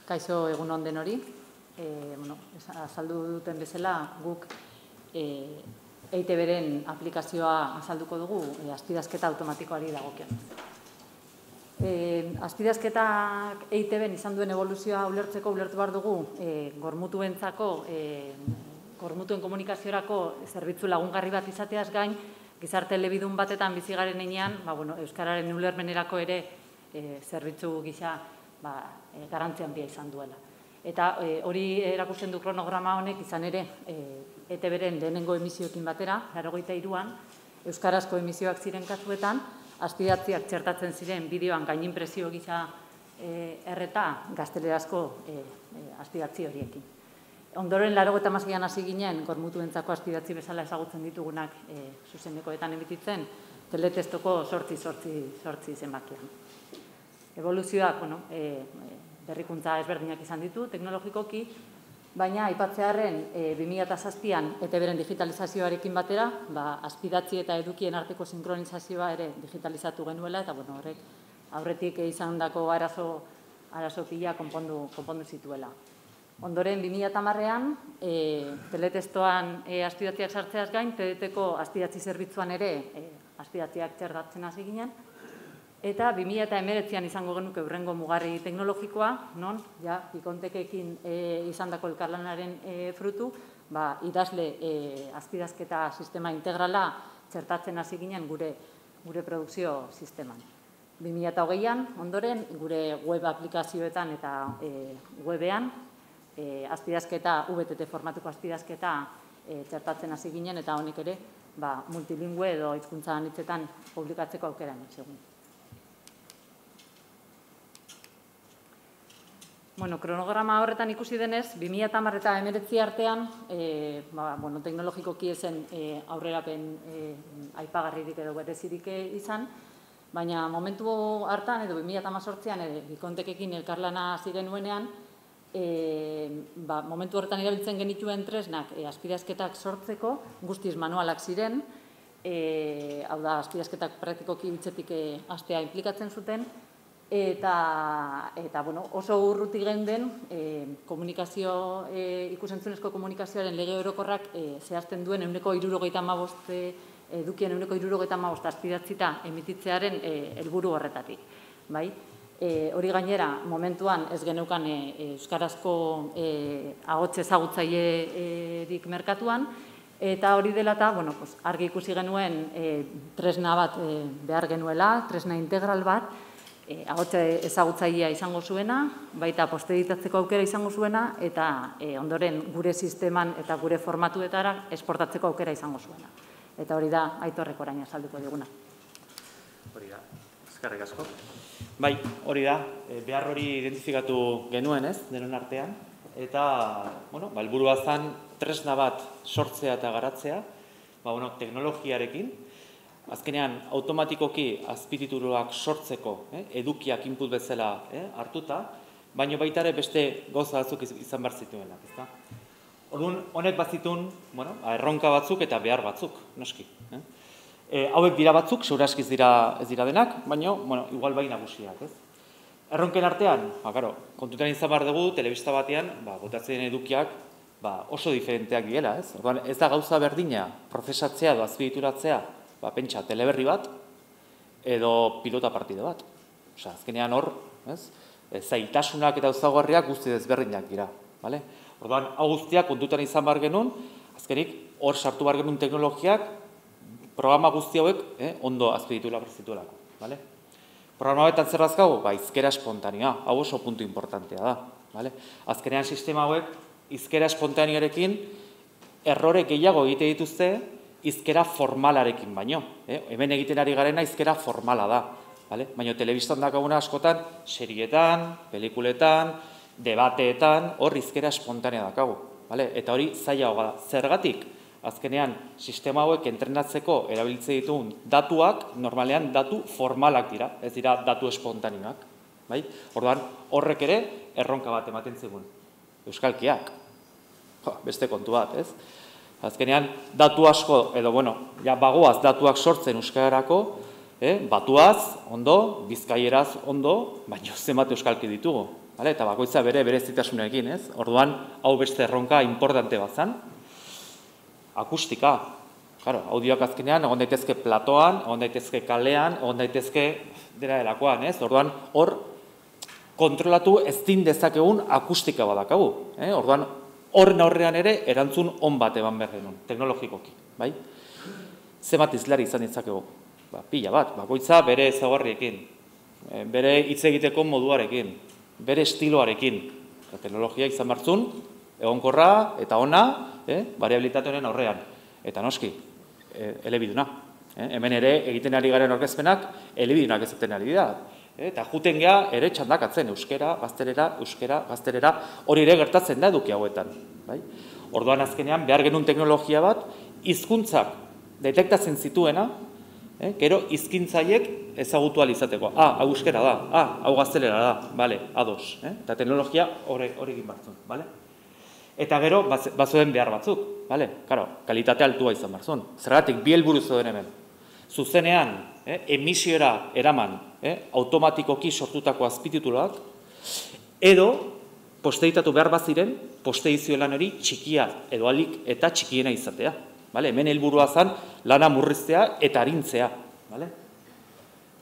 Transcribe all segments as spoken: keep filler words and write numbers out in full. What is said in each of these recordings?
Kaixo egun on denori, azaldu duten bezala guk E I T B-ren aplikazioa azalduko dugu azpidazketa automatikoari dagokion. Azpidazketak E I T B-en izan duen evoluzioa ulertzeko ulertu behar dugu gormutuentzako, gormutuen komunikaziorako zerbitzu lagungarri bat izateaz gain, gizarte elebidun batetan bizi garen heinean, euskararen ulermenerako ere zerbitzu gisa garrantzia handia izan duela. Eta hori erakusten du kronograma honek izan ere E T B-ren lehenengo emisioekin batera, laurogeita hiruan, euskarazko emisioak ziren kasuetan, azpidatziak txertatzen ziren bideoan gainimpresio gisa erreta gaztelerazko azpidatzi horiekin. Ondoren laurogeita hamaseian hasi ginen, gormutuentzako azpidatzi bezala ezagutzen ditugunak zuzenekoetan emititzen, teletestoko sortzi sortzi zenbakian. Evoluzioak, berrikuntza ezberdinak izan ditu, teknologikoki, baina aipatzearren bi mila zazpian E T B-ren digitalizazioarekin batera, azpidatzi eta edukien arteko sinkronizazioa ere digitalizatu genuela, eta horrek aurretik izandako arazo pila konpondu zituela. Ondoren, bi mila hamarrean, teletestoan azpidatziak sartzeaz gain, T D T-ko azpidatzi zerbitzuan ere azpidatziak txertatzen hasi ginen, eta bi mila hemeretzian izango genuke hurrengo mugarri teknologikoa, non, ja, ikontekekin izandako elkarlanaren frutu, idazle azpidazketa sistema integrala txertatzen hasi ginen gure produkzio sisteman. bi mila hogeian, ondoren, gure web aplikazioetan eta webean, azpidazketa, V T T formatuko azpidazketa txertatzen hasi ginen, eta honek ere multilingüe edo hizkuntza anitzetan publikatzeko aukera ematzegun. Kronograma horretan ikusi denez, bi mila hamar eta hemeretzi artean, teknologikoki ezen aurrerapen aipagarririk edo berezirik izan, baina momentu hartan, edo bi mila hemezortzian, ikontekekin elkarlana hasi genuenean, momentu horretan erabiltzen genituen tresnak azpidazketak sortzeko, guztiz manualak ziren, hau da, azpidazketak praktikoki hitzetik hastea inplikatzen zuten, eta oso urruti geunden komunikazio, ikusentzunezko komunikazioaren lege orokorrak zehazten duen ehuneko hirurogeita hamabost edukien ehuneko hirurogeita hamabost azpidatzita emititzearen helburu horretatik. Hori gainera, momentuan ez geneukan euskarazko ahots ezagutzailerik merkatuan, eta hori dela eta argi ikusi genuen tresna bat behar genuela, tresna integral bat, ahots ezagutzailea izango zuena, baita posteditatzeko aukera izango zuena, eta ondoren gure sisteman eta gure formatuetara esportatzeko aukera izango zuena. Eta hori da, Aitorrek orain azalduko diguna. Hori da, eskerrik asko. Bai, hori da, behar hori identifikatu genuen ez, denon artean, eta helburua zen tresna bat sortzea eta garatzea, teknologiarekin, azkenean, automatikoki azpitituluak sortzeko edukiak input bezala hartuta, baina baita ere beste gauza batzuk izan behar zituenak, ezta? Orduan, honek bazitun, erronka batzuk eta behar batzuk, noski. Hauek dira batzuk, segura eskiz ez dira denak, baina, igual bai nagusiak, ez? Erronken artean, kontutan izan behar dugu, telebista batean, botatzen edukiak oso diferenteak direla, ez? Orduan, ez da gauza berdina, prozesatzea edo azpititulatzea, pentsa, teleberri bat, edo pilota partide bat. Osa, azkenean hor, zailtasunak eta ezaugarriak guzti desberdinak dira. Orduan, hau guztiak kontutan izan behar genuen, azkenik hor sartu behar genuen teknologiak, programa guzti hauek ondo azpititula berzituelako. Programa betan zer dazkago? Izkera espontanea, hau oso puntu importantea da. Azkenean sistema hauek, izkera espontanearekin, errore gehiago egite dituzte, izkera formalarekin baino. Hemen egiten ari garena izkera formala da. Baina telebistan dakaguna askotan, serietan, pelikuletan, debateetan, hor izkera espontanea dakagu. Eta hori zaila hoga da. Zergatik, azkenean, sistema hauek entrenatzeko erabiltze ditugun datuak, normalean datu formalak dira, ez dira datu espontaneoak. Orduan, horrek ere, erronka bat ematen zigun. Euskalkiak. Beste kontu bat, ez? Azkenean, datu asko, edo, bueno, ja bagoaz datuak sortzen euskararako, batuaz, ondo, bizkaieraz, ondo, baina zenbat euskalki ditugu. eta bakoitza bere berezitasunekin, ez? Orduan, hau beste erronka importante bat zan. Akustika, claro, audioak azkenean, egon daitezke platoan, egon daitezke kalean, egon daitezke dela delakoan, ez? Orduan, hor, kontrolatu ezin dezakegun akustika badakagu. Eh? Orduan, horren aurrean ere, erantzun on bat eban behar genuen, teknologikoki, bai? Zenbat izlari izan ditzakegu? Ba, pila bat, bakoitza bere ezaugarriekin, bere hitz egiteko moduarekin, bere estiloarekin. Teknologia izan martzun, egonkorra eta ona, eh? Variabilitatearen aurrean. Eta noski, eh, elebiduna. Eh? Hemen ere, egiten ari garen orkezpenak, elebidunak ezaten ari da. Eta juten geha ere txandakatzen, euskera, gaztelera, euskera, gaztelera, hori ere gertatzen da eduki hauetan. Bai? Orduan azkenean, behar genuen teknologia bat, hizkuntzak detektatzen zituena, eh? Gero hizkintzaiek ezagutu ahal izateko. Ah, hau euskera da, ah, hau gaztelera da, bale, ados. Eh? Eta teknologia horrekin batzun, bale? Eta gero, bazuen behar batzuk, bale? Karo, kalitate altua izan barzun. Zergatik, bi helburu zeuden hemen. Zuzenean, eh, emisiora eraman, eh, automatikoki sortutako azpitituluak, edo, posteitatu behar baziren, posteizio lan hori txikia edo alik eta txikiena izatea. Vale? Hemen helburua zan lana murriztea eta arintzea. Vale?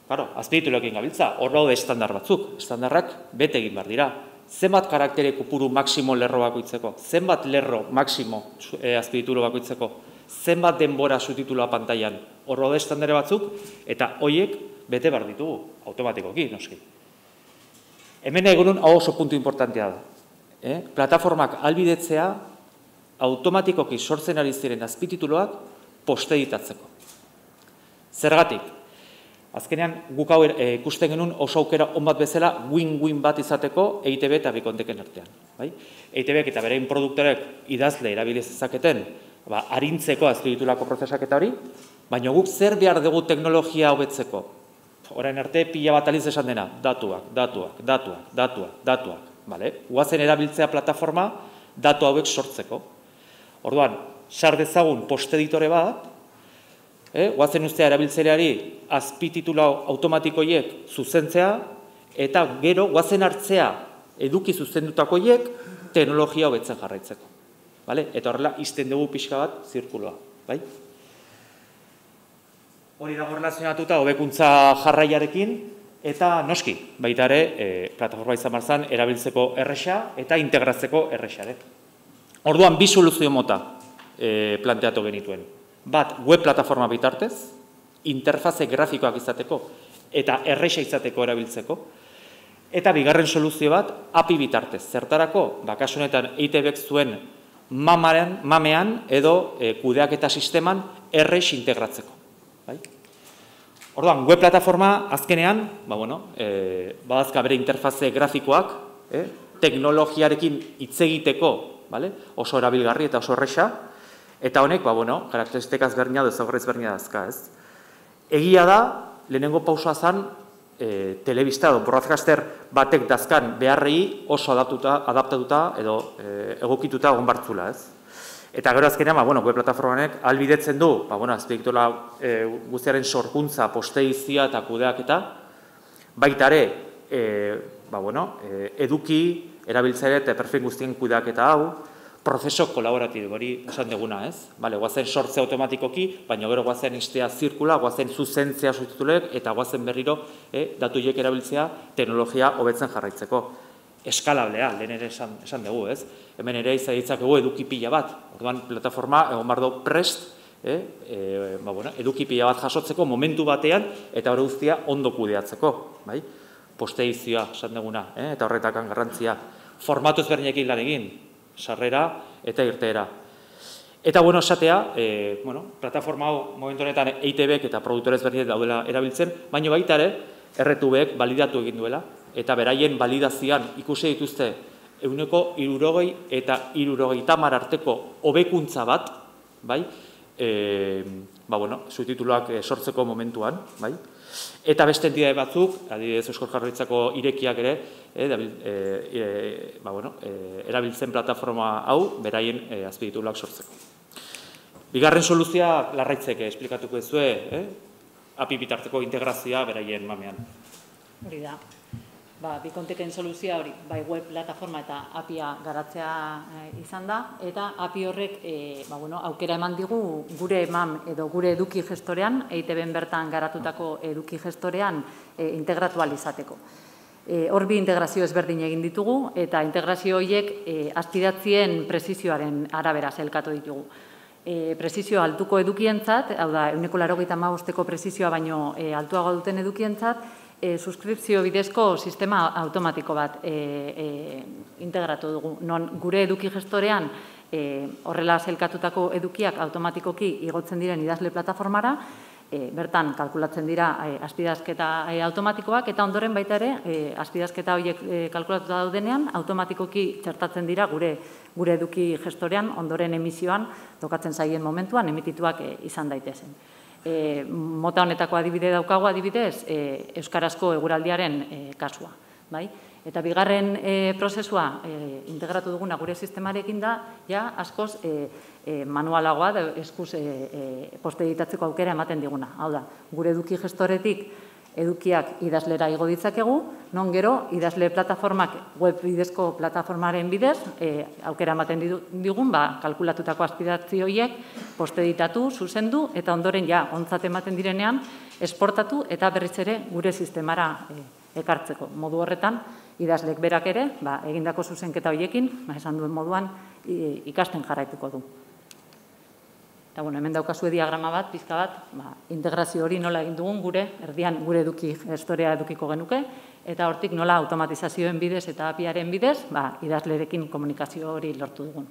Claro, azpitituluekin gabiltza, hor daude estandar batzuk. Estandarrak bete egin behar dira. Zenbat karaktere kopuru maksimo lerro bakoitzeko? Zenbat lerro maksimo eh, azpititulu bakoitzeko? Zenbat denbora subtitulua pantailan? Hor daude estandare batzuk, eta hoiek bete behar ditugu, automatikoki, noski. Hemen egunun hau oso puntu importantea da. Eh? Plataformak albidetzea, automatikoki sortzen ari ziren azpitituluak posteeditatzeko. Zergatik? Azkenean, guk hau ikusten genuen oso aukera on bat bezala win-win bat izateko E I T B eta Bikonteken artean. Bai? E I T Bek eta berein produktorek idazle erabiliz ezaketen, ba, arintzeko azpititulako prozesak eta hori, baina guk zer behar dugu teknologia hobetzeko? Orain arte pila bat aliz esan dena, datuak, datuak, datuak, datuak, datuak. Vale? Guazen erabiltzea plataforma datu hauek sortzeko. Orduan, sar dezagun posteditore bat, eh, guazen ustea erabiltzaileari azpititulu automatikoiek zuzentzea, eta gero guazen hartzea eduki zuzendutakoiek teknologia hobetzen jarraitzeko. Vale? Eta horrela, izten dugu pixka bat zirkuloa. Bai? Hori dago relazionatuta hobekuntza jarraiarekin, eta noski, baita ere, eh, plataforma izan barzan, erabiltzeko erresa eta integratzeko erresare. Orduan, bi soluzio mota e, planteatu genituen. Bat, web plataforma bitartez, interfaze grafikoak izateko eta erresa izateko erabiltzeko. Eta bigarren soluzio bat, A P I bitartez. Zertarako, bakasunetan E I T Bek zuen mamaren, mamean edo e, kudeaketa sisteman erres integratzeko. Bai? Orduan, web plataforma azkenean, ba, bueno, e, badazka bere interfaze grafikoak, eh, teknologiarekin hitz egiteko, vale? Oso erabilgarri eta oso erresa, eta honek, ba, bueno, karakteristikaz berdina edo ezaugarriz berdina dazka, ez? Egia da, lehenengo pausoa zan, e, telebista edo broadcaster batek dazkan beharrei oso adaptuta, adaptatuta edo e, egokituta egon bartzula, ez? Eta gero azkenean, ba, bueno, web plataformanek albidetzen du, ba, bueno, azpiektula e, guztiaren sorkuntza, posteizia eta kudeaketa, baita ere, e, ba, bueno, e, eduki, erabiltzaile eta perfil guztien kudeaketa hau, prozeso kolaboratibo hori esan deguna, ez? Bale, guazen sortzea automatikoki, baina gero guazen istea zirkula, guazen zuzentzea subtituluek, eta guazen berriro eh, datuiek erabiltzea teknologia hobetzen jarraitzeko. Eskalablea, lehen ere esan, esan dugu, ez? Hemen ere izan ditzakegu eduki pila bat. Orduan, plataforma, egon bardo prest, eh, eh, ba, bueno, eduki pila bat jasotzeko momentu batean, eta hori guztia ondo kudeatzeko, bai? Posteizioa, esan duguna, eh? Eta horretakan garrantzia. Formatu ezberdinekin lan egin, sarrera eta irteera. Eta, bueno, esatea, e, bueno, plataforma hau momentu honetan E I T Bek eta produktore ezberdinek daudela erabiltzen, baina baita ere, R T Bek balidatu egin duela, eta beraien balidazioan ikusi dituzte ehuneko hirurogei eta hirurogeita hamar arteko hobekuntza bat, bai? E, ba, bueno, subtituluak sortzeko momentuan, bai? Eta beste entidade batzuk, adibidez Eusko Jaurlaritzako irekiak ere, e, e, e, ba, bueno, e, erabiltzen plataforma hau beraien e, azpitituluak sortzeko. Bigarren soluzioa Larraitzek esplikatuko ezue, eh? A P I bitarteko integrazioa beraien mamean. Hori da. Bikonteken soluzioa hori, bai web plataforma eta A P I-a garatzea izan da, eta A P I horrek aukera eman digu gure eman edo gure eduki gestorean, E I Te Be bertan garatutako eduki gestorean integratu ahal izateko. Hor bi integrazio ezberdin egin ditugu, eta integrazio horiek azpidatzien presizioaren arabera zelkatu ditugu. Presizio altuko edukientzat, hau da, ehuneko laurogeita hamabosteko presizioa baino altuago duten edukientzat, suskripzio bidezko sistema automatiko bat integratu dugu. Non gure eduki gestorean horrela zelkatutako edukiak automatikoki igotzen diren idazle plataformara, bertan kalkulatzen dira azpidazketa automatikoak, eta ondoren baita ere, azpidazketa horiek kalkulatuta daudenean, automatikoki txertatzen dira gure eduki gestorean, ondoren emisioan, tokatzen zaien momentuan, emitituak izan daitezen. Mota honetako adibide daukagu adibidez, euskarazko eguraldiaren kasua. Eta bigarren prozesua integratu duguna gure sistemarekin da, ja, askoz manualagoa, eskuz poste editatzeko aukera ematen diguna. Hau da, gure eduki gestoretik edukiak idazlera igo ditzakegu, non gero idazle plataformak, web bidezko plataformaren bidez, aukera ematen digun, kalkulatutako azpidatzi horiek, poste editatu, zuzendu, eta ondoren ja, ontzat ematen direnean, esportatu eta berriz ere gure sistemara ekartzeko. Modu horretan, idazlek berak ere, egindako zuzenketa horiekin, esan duen moduan, ikasten jarraituko du. Eta, bueno, hemen daukazu diagrama bat, pizka bat, integrazio hori nola egin dugun gure, erdian gure eduki gestorea edukiko genuke, eta hortik nola automatizazioen bidez eta A P I-aren bidez, idazlerekin komunikazio hori lortu dugun.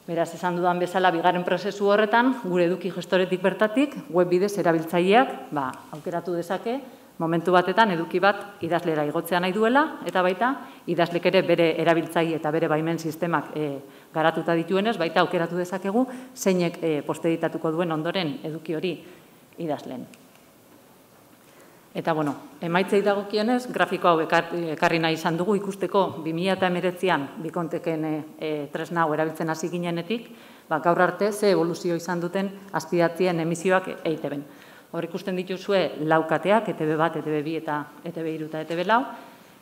Beraz, esan dudan bezala, bigarren prozesu horretan, gure eduki gestoretik bertatik, web bidez erabiltzaileak aukeratu dezake, momentu batetan eduki bat idazlera igotzea nahi duela, eta baita idazlek ere bere erabiltzaile eta bere baimen sistemak garatuta dituenez, baita aukeratu dezakegu zeinek poste editatuko duen ondoren eduki hori idazlen. Eta, bueno, emaitzei dagokionez, grafiko hau ekarri nahi izan dugu ikusteko bi mila hemeretzian Bikonteken tresna hau erabiltzen hasi ginenetik, gaur arte ze evoluzio izan duten azpidatzien emisioak E I Te Ben. Hor ikusten dituzue laukateak, E Te Be bat, E Te Be bi eta E Te Be hiru eta E Te Be lau,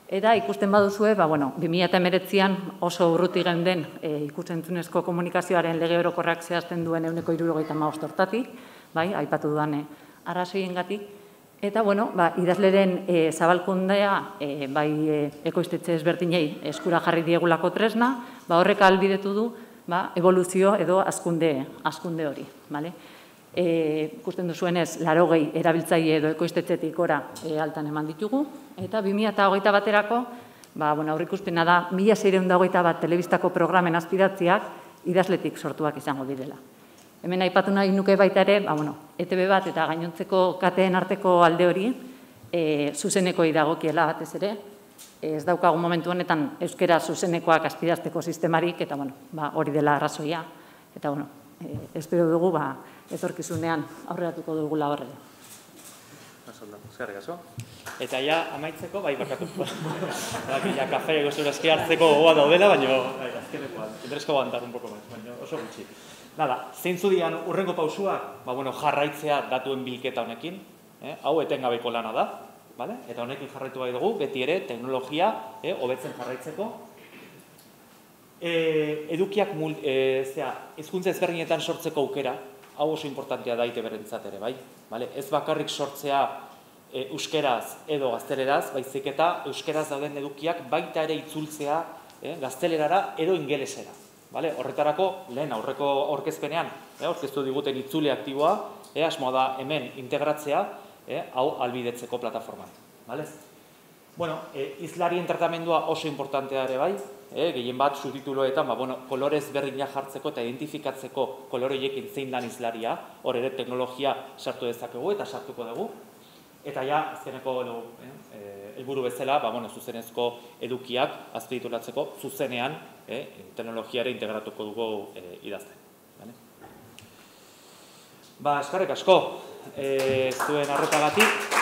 eta ikusten baduzue, bi mila hemeretzian oso urruti geunden ikus-entzunezko komunikazioaren lege orokorrak zehazten duen ehuneko hirurogeita hamabost hortatik, aipatu dudan arrazoiengatik, eta, bueno, idazleren zabalkundea, bai ekoiztetxe ezberdinei eskura jarri diegulako tresna, horrek ahalbidetu du evoluzio edo hazkunde hori, bale? Ikusten duzuenez, laurogei erabiltzaile edo ekoiztetxetik gora altan eman ditugu, eta bi mila hogeita baterako, aurreikuspena da, mila seiehun eta hogeita bat telebistako programen azpidatziak idazletik sortuak izango direla. Hemen aipatu nahi nuke baita ere, E Te Be bat eta gainontzeko kateen arteko alde hori, zuzenekoi dagokiela batez ere, ez daukagun momentu honetan euskera zuzenekoak azpidazteko sistemarik, eta hori dela arrazoia, eta espero dugu etorkizunean aurreratuko dugula horre. Eskerrik asko. Eta ja, amaitzeko, bai, bakatu. Ja, kafe gozurazki hartzeko gogoa daudela, baina azkenekoan, interesko bantar un poco más, baina oso gutxi. Nada, zeintzu dian urrengo pausuak, jarraitzea datuen bilketa honekin, hau etengabeko lana da, eta honekin jarraitu bai dugu, beti ere teknologia hobetzen jarraitzeko. Edukiak hizkuntza ezberdinetan sortzeko aukera, hau oso importantea da E I Te Berentzat ere, bai? Ez bakarrik sortzea euskeraz edo gazteleraz, baizik eta euskeraz dauden edukiak baita ere itzultzea gaztelerara edo ingelesera. Horretarako, lehen aurreko aurkezpenean, aurkeztu diguten itzule aktiboa, asmoa da hemen integratzea, hau ahalbidetzeko plataforman. Bueno, hizlarien tratamendua oso importantea ere bai, gehien bat subtituloetan kolorez berdinak jartzeko eta identifikatzeko koloreiekin zein dan hizlaria, hor ere teknologia sartu dezakegu eta sartuko dugu. Eta ja, azkeneko helburu bezala, zuzenezko edukiak azpititulatzeko zuzenean teknologiare integratuko dugu idazten. Eskerrik asko, zuen arretagatik.